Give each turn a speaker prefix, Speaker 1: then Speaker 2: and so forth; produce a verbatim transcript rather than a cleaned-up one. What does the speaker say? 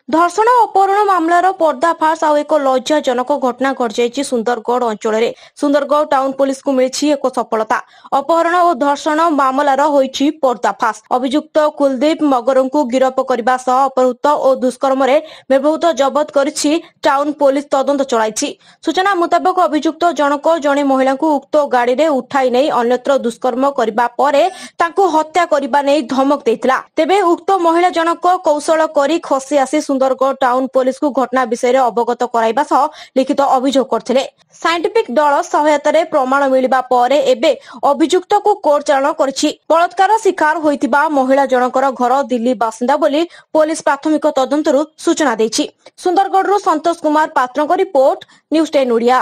Speaker 1: ଧର୍ଷଣ ଅପହରଣ ମାମଲାର ପର୍ଦ୍ଦାଫାଶ ଆଉ ଏକ ଲଜ୍ଜାଜନକ ଘଟଣା ଘଟିଯାଇଛି ସୁନ୍ଦରଗଡ଼ ଅଞ୍ଚଳରେ। ସୁନ୍ଦରଗଡ଼ ଟାଉନ ପୋଲିସକୁ ମିଳିଛି ଏକ ସଫଳତା। ଅପହରଣ ଓ ଧର୍ଷଣ ମାମଲାର ହୋଇଛି ପର୍ଦ୍ଦାଫାଶ। ଅଭିଯୁକ୍ତ କୁଲଦୀପ ମଗରଙ୍କୁ ଗିରଫ କରିବା ସହ ଅପହୃତ ଓ ଦୁଷ୍କର୍ମରେ ବ୍ୟବହୃତ ଜବତ କରିଛି। ଟାଉନ ପୋଲିସ ତଦନ୍ତ ଚଳାଇଛି। ସୂଚନା ମୁତାବକ, ଅଭିଯୁକ୍ତ ଜଣକ ଜଣେ ମହିଳାଙ୍କୁ ଉକ୍ତ ଗାଡ଼ିରେ ଉଠାଇ ନେଇ ଅନ୍ୟତ୍ର ଦୁଷ୍କର୍ମ କରିବା ପରେ ତାଙ୍କୁ ହତ୍ୟା କରିବା ନେଇ ଧମକ ଦେଇଥିଲା। ତେବେ ଉକ୍ତ ମହିଳା ଜଣକ କୌଶଳ କରି ଖସି ଆସି ସୁନ୍ଦରଗଡ଼ ଟାଉନ ପୋଲିସକୁ ଘଟଣା ବିଷୟରେ ଅବଗତ କରାଇବା ସହ ଲିଖିତ ଅଭିଯୋଗ କରିଥିଲେ। ସାଇଣ୍ଟିଫିକ ଦଳ ସହାୟତାରେ ପ୍ରମାଣ ମିଳିବା ପରେ ଏବେ ଅଭିଯୁକ୍ତକୁ କୋର୍ଟ ଚାଲାଣ କରିଛି। ବଳାତ୍କାର ଶିକାର ହୋଇଥିବା ମହିଳା ଜଣଙ୍କର ଘର ଦିଲ୍ଲୀ ବାସିନ୍ଦା ବୋଲି ପୋଲିସ ପ୍ରାଥମିକ ତଦନ୍ତରୁ ସୂଚନା ଦେଇଛି। ସୁନ୍ଦରଗଡ଼ରୁ ସନ୍ତୋଷ କୁମାର ପାତ୍ରଙ୍କ ରିପୋର୍ଟ, ନ୍ୟୁଜ୍ ଟେନ୍ ଓଡ଼ିଆ।